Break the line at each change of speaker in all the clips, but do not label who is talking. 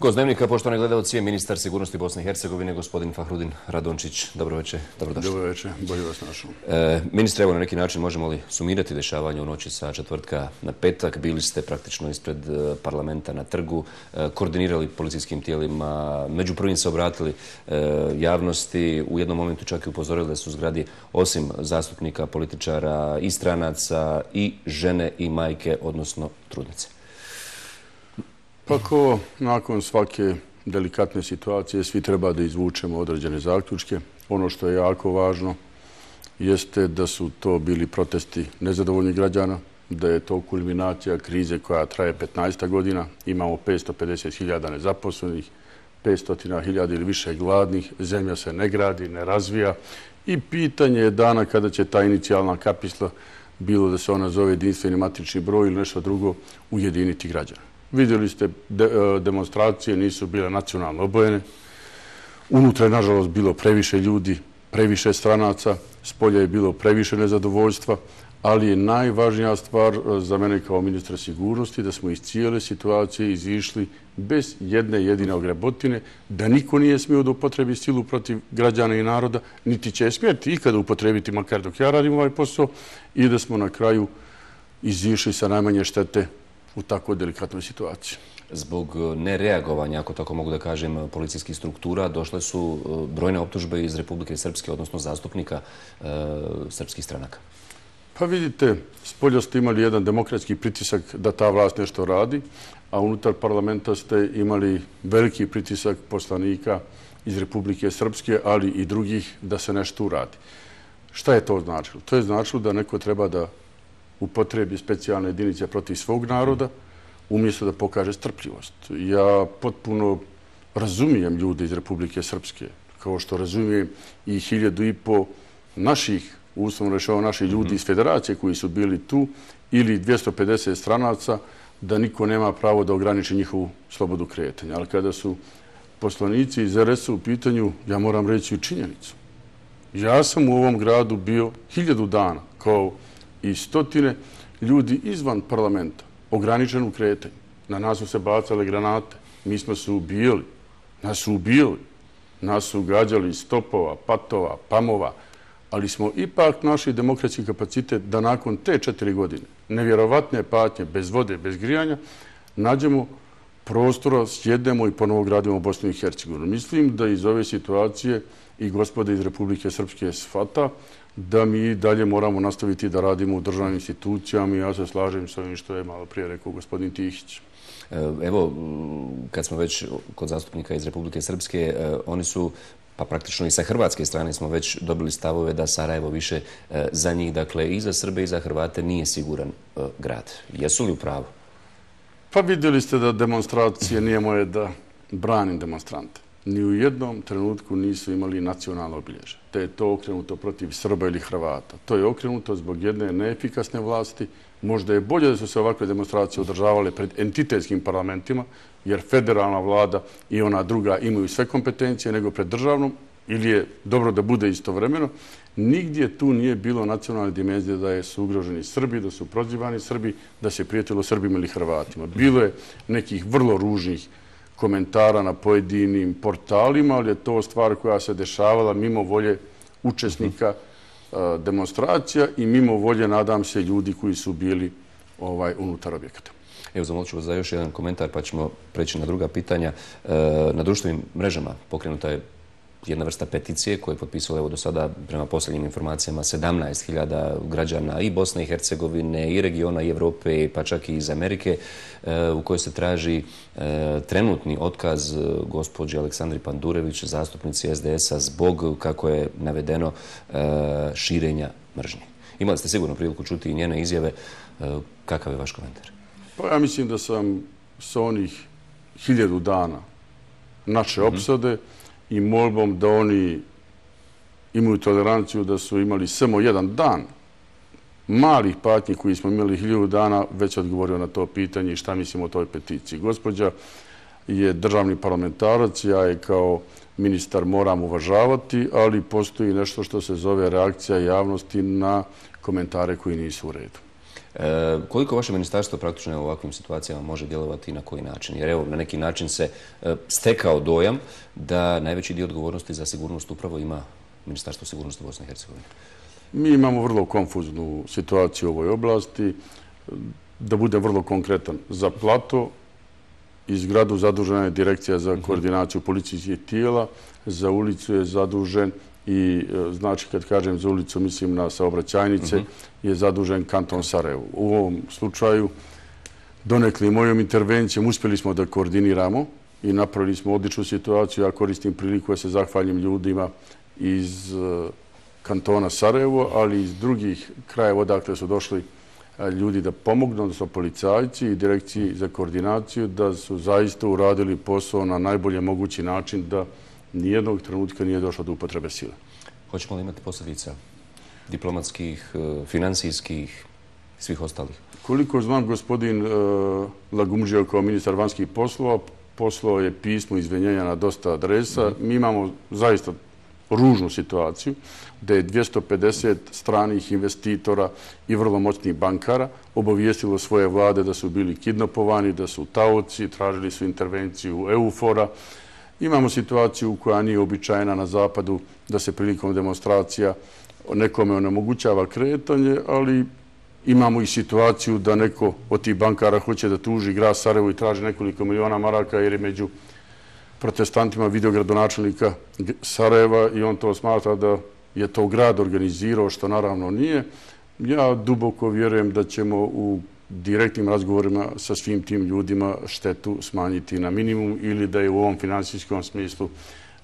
Gost Dnevnika, poštovani gledalci, ministar sigurnosti Bosne i Hercegovine, gospodin Fahrudin Radončić. Dobro večer, dobrodošli.
Dobro večer, bolje vas našao.
Ministre, evo na neki način možemo li sumirati dešavanje u noći sa četvrtka na petak? Bili ste praktično ispred parlamenta na trgu, koordinirali policijskim tijelima, među prvim se obratili javnosti, u jednom momentu čak i upozorili da su u zgradi osim zastupnika, političara i stranaca i žene i majke, odnosno trudnice.
Pa ko nakon svake delikatne situacije svi treba da izvučemo određene zaključke. Ono što je jako važno jeste da su to bili protesti nezadovoljnih građana, da je to kulminacija krize koja traje 15 godina. Imamo 550.000 nezaposlenih, 500.000 ili više gladnih, zemlja se ne gradi, ne razvija i pitanje je dana kada će ta inicijalna kapisla, bilo da se ona zove jedinstveni matični broj ili nešto drugo, ujediniti građana. Vidjeli ste, demonstracije nisu bile nacionalno obojene. Unutra je, nažalost, bilo previše ljudi, previše stranaca, spolja je bilo previše nezadovoljstva, ali je najvažnija stvar za mene kao ministra sigurnosti da smo iz cijele situacije izišli bez jedne jedine ogrebotine, da niko nije smio da upotrebi silu protiv građana i naroda, niti će smjeti ikada upotrebiti, makar dok ja radim ovaj posao, i da smo na kraju izišli sa najmanje štete u tako delikatnoj situaciji.
Zbog nereagovanja, ako tako mogu da kažem, policijskih struktura, došle su brojne optužbe iz Republike Srpske, odnosno zastupnika srpskih stranaka.
Pa vidite, spolja ste imali jedan demokratski pritisak da ta vlast nešto radi, a unutar parlamenta ste imali veliki pritisak poslanika iz Republike Srpske, ali i drugih da se nešto uradi. Šta je to značilo? To je značilo da neko treba da upotrebi specijalne jedinice protiv svog naroda, umjesto da pokaže strpljivost. Ja potpuno razumijem ljude iz Republike Srpske, kao što razumijem i 1.500 naših, uslovno rečeno naših ljudi iz federacije koji su bili tu, ili 250 stranaca, da niko nema pravo da ograniči njihovu slobodu kretanja. Ali kada su poslanici iz RS-a u pitanju, ja moram reći činjenicu. Ja sam u ovom gradu bio 1000 dana, kao i stotine ljudi izvan parlamenta, ograničen u kretanju. Na nas su se bacale granate, mi smo se ubijali, nas su gađali iz topova, patova, pamova, ali smo ipak našli demokratski kapacitet da nakon te 4 godine, nevjerovatne patnje, bez vode, bez grijanja, nađemo prostora, sjednemo i ponovo gradimo Bosnu i Hercegovinu. Mislim da iz ove situacije i gospoda iz Republike Srpske shvata da mi dalje moramo nastaviti da radimo u državnim institucijama i ja se slažem s ovim što je malo prije rekao gospodin Tihić.
Evo, kad smo već kod zastupnika iz Republike Srpske, oni su, pa praktično i sa hrvatske strane smo već dobili stavove da Sarajevo više za njih, dakle i za Srbe i za Hrvate, nije siguran grad. Jesu li u pravu?
Pa vidjeli ste da demonstracije nije moje da branim demonstrante. Ni u jednom trenutku nisu imali nacionalno obilježje. Te je to okrenuto protiv Srba ili Hrvata. To je okrenuto zbog jedne neefikasne vlasti. Možda je bolje da su se ovakve demonstracije održavale pred entitetskim parlamentima, jer federalna vlada i ona druga imaju sve kompetencije nego pred državnom, ili je dobro da bude istovremeno. Nigdje tu nije bilo nacionalne dimenzije da su ugroženi Srbi, da su prozivani Srbi, da se prijetilo Srbima ili Hrvatima. Bilo je nekih vrlo ružnih komentara na pojedinim portalima, ali je to stvar koja se dešavala mimo volje učesnika demonstracija i mimo volje, nadam se, ljudi koji su bili unutar objekata.
Evo, zamolit ću vas za još jedan komentar, pa ćemo preći na druga pitanja. Na društvenim mrežama pokrenuta je jedna vrsta peticije koju je potpisalo, evo, do sada, prema posljednjim informacijama, 17.000 građana i Bosne i Hercegovine, i regiona, i Evrope, pa čak i iz Amerike, u kojoj se traži trenutni otkaz gospođe Aleksandri Pandurević, zastupnici SDS-a, zbog, kako je navedeno, širenja mržnje. Imali ste sigurno priliku čuti i njene izjave. Kakav je vaš komentar?
Pa ja mislim da sam sa onih 1000 dana naše opsade i molbom da oni imaju toleranciju da su imali samo jedan dan malih patnji koji smo imali 1000 dana, već odgovorio na to pitanje i šta mislim o toj peticiji. Gospođa je državni parlamentarac, ja je kao ministar moram uvažavati, ali postoji nešto što se zove reakcija javnosti na komentare koji nisu u redu.
Koliko vaše ministarstvo praktično u ovakvim situacijama može djelovati i na koji način? Jer evo, na neki način se stekao dojam da najveći dio odgovornosti za sigurnost upravo ima Ministarstvo sigurnosti Bosne i Hercegovine.
Mi imamo vrlo konfuznu situaciju u ovoj oblasti. Da bude vrlo konkretan, za Plato i zgradu zadužena je Direkcija za koordinaciju policijskih tijela, za ulicu je zadužen i, znači kad kažem za ulicu, mislim na saobraćajnice, je zadužen kanton Sarajevo. U ovom slučaju, donekle mojom intervencijom, uspjeli smo da koordiniramo i napravili smo odličnu situaciju. Ja koristim priliku da se zahvalim ljudima iz kantona Sarajevo, ali i iz drugih krajeva odakle su došli ljudi da pomognu, odnosno policajci i Direkciji za koordinaciju, da su zaista uradili posao na najbolje mogući način, da nijednog trenutka nije došlo do upotrebe sile.
Hoćemo li imati posljedica diplomatskih, financijskih i svih ostalih?
Koliko znam, gospodin Lagumdžija kao ministar vanjskih poslova poslao je pismo izvinjenja na dosta adresa. Mi imamo zaista ružnu situaciju da je 250 stranih investitora i vrlo moćnih bankara obavijestilo svoje vlade da su bili kidnapovani, da su taoci, tražili su intervenciju EUFOR-a. Imamo situaciju koja nije običajna na zapadu, da se prilikom demonstracija nekome onemogućava kretanje, ali imamo i situaciju da neko od tih bankara hoće da tuži grad Sarajevo i traži nekoliko miliona maraka jer je među protestantima video gradonačelnika Sarajeva i on to smatra da je to grad organizirao, što naravno nije. Ja duboko vjerujem da ćemo u direktnim razgovorima sa svim tim ljudima štetu smanjiti na minimum ili da je u ovom finansijskom smislu,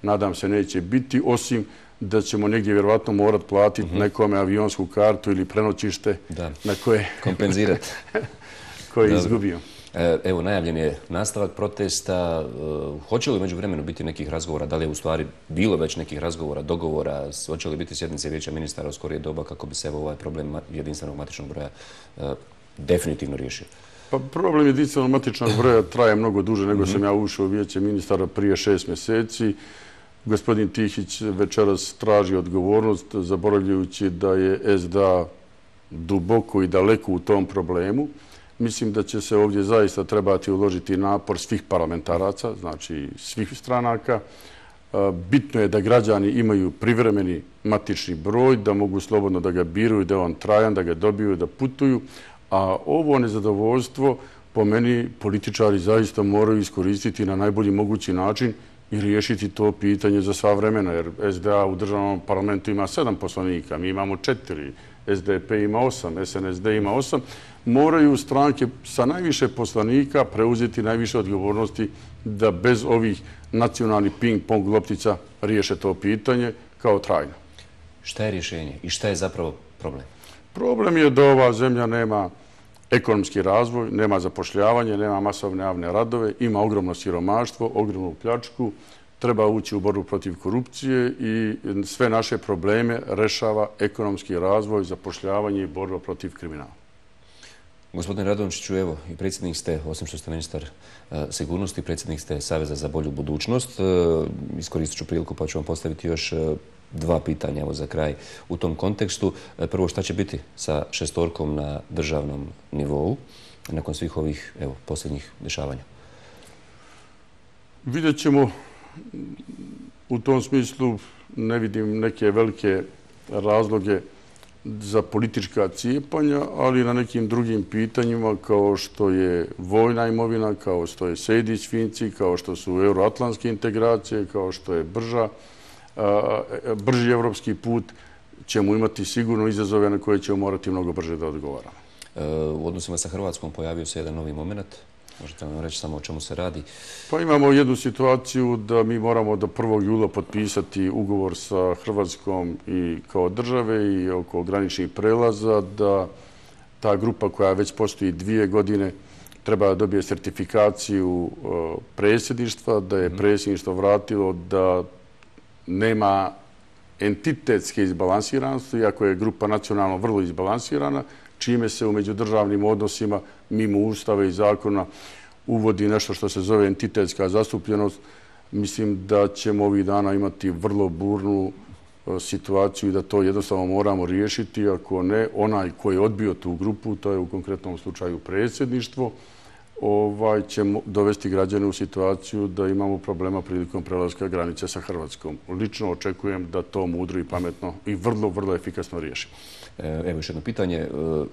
nadam se, neće biti, osim da ćemo negdje vjerovatno morati platiti nekome avionsku kartu ili prenoćište na koje
kompenzirati
koje je izgubio.
Evo, najavljen je nastavak protesta. Hoće li među vremenu biti nekih razgovora? Da li je u stvari bilo već nekih razgovora, dogovora? Hoće li biti sjednice Vijeća ministara u skorije doba kako bi se ovaj problem jedinstvenog matičnog broja definitivno riješio?
Pa problem jedinstvenog matičnog broja traje mnogo duže nego sam ja ušao u Vijeće ministara prije 6 mjeseci. Gospodin Tihić večeras traži odgovornost, zaboravljajući da je SDA duboko i daleko u tom problemu. Mislim da će se ovdje zaista trebati uložiti napor svih parlamentaraca, znači svih stranaka. Bitno je da građani imaju privremeni matični broj, da mogu slobodno da ga biraju, da je on trajan, da ga dobiju, da putuju. A ovo nezadovoljstvo, po meni, političari zaista moraju iskoristiti na najbolji mogući način i riješiti to pitanje za sva vremena, jer SDA u državnom parlamentu ima 7 poslanika, mi imamo 4, SDP ima 8, SNSD ima 8. Moraju stranke sa najviše poslanika preuzeti najviše odgovornosti da bez ovih nacionalnih ping-pong loptica riješe to pitanje kao trajno.
Šta je rješenje i šta je zapravo problem?
Problem je da ova zemlja nema ekonomski razvoj, nema zapošljavanje, nema masovne javne radove, ima ogromno siromaštvo, ogromnu pljačku, treba ući u borbu protiv korupcije i sve naše probleme rešava ekonomski razvoj, zapošljavanje i borba protiv kriminala.
Gospodine Radončiću, evo, i predsjednik ste, osim što ste ministar sigurnosti, predsjednik ste Saveza za bolju budućnost. Iskoristit ću priliku pa ću vam postaviti još 2 pitanja evo za kraj u tom kontekstu. Prvo, šta će biti sa šestorkom na državnom nivou nakon svih ovih posljednjih dešavanja?
Vidjet ćemo. U tom smislu ne vidim neke velike razloge za politička cijepanja, ali na nekim drugim pitanjima kao što je vojna imovina, kao što je Sejdić-Finci, kao što su euroatlantske integracije, kao što je brži evropski put, ćemo imati sigurno izazove na koje ćemo morati mnogo brže da odgovaramo.
U odnosima sa Hrvatskom pojavio se jedan novi moment. Možete nam reći samo o čemu se radi?
Pa imamo jednu situaciju da mi moramo do 1. jula potpisati ugovor sa Hrvatskom i kao države i oko graničnih prelaza, da ta grupa koja već postoji 2 godine treba da dobije sertifikaciju predsjedništva, da je predsjedništvo vratilo da nema entitetske izbalansiranosti, iako je grupa nacionalno vrlo izbalansirana, čime se u međudržavnim odnosima mimo Ustava i zakona uvodi nešto što se zove entitetska zastupljenost. Mislim da ćemo ovih dana imati vrlo burnu situaciju i da to jednostavno moramo riješiti. Ako ne, onaj koji je odbio tu grupu, to je u konkretnom slučaju predsjedništvo, će dovesti građane u situaciju da imamo problema prilikom prelaska granice sa Hrvatskom. Lično očekujem da to mudro i pametno i vrlo, vrlo efikasno riješimo.
Evo još jedno pitanje.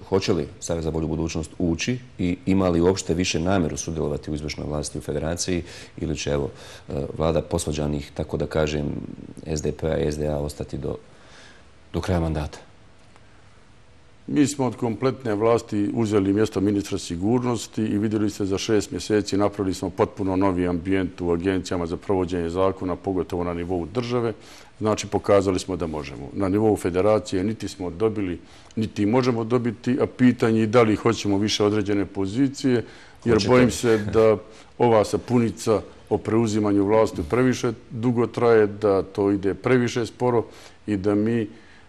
Hoće li Savez za bolju budućnost ući i ima li uopšte više namjeru sudjelovati u izvršnoj vlasti u federaciji ili će vlada posvađanih, tako da kažem, SDP-a i SDA ostati do kraja mandata?
Mi smo od kompletne vlasti uzeli mjesto ministra sigurnosti i vidjeli ste za 6 mjeseci napravili smo potpuno novi ambijent u agencijama za provođenje zakona, pogotovo na nivou države. Znači, pokazali smo da možemo. Na nivou federacije niti smo dobili, niti možemo dobiti, a pitanje je da li hoćemo više određene pozicije, jer bojim se da ova sapunica o preuzimanju vlasti previše dugo traje, da to ide previše sporo i da mi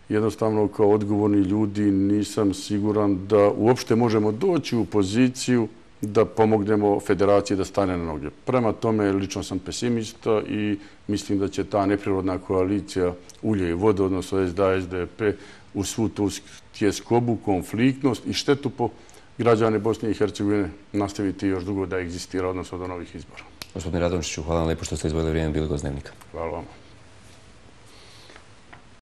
jednostavno kao odgovorni ljudi nisam siguran da uopšte možemo doći u poziciju da pomognemo federaciji da stane na noge. Prema tome, lično sam pesimista i mislim da će ta neprirodna koalicija ulje i vode, odnosno SDA, SDP, u svu tu tjeskobu, konfliktnost i štetu po građane Bosne i Hercegovine nastaviti još dugo da egzistira, odnosno do novih izbora.
Gospodine Radončiću, hvala vam lijepo što ste izdvojili vrijeme, bili gost Dnevnika.
Hvala vam.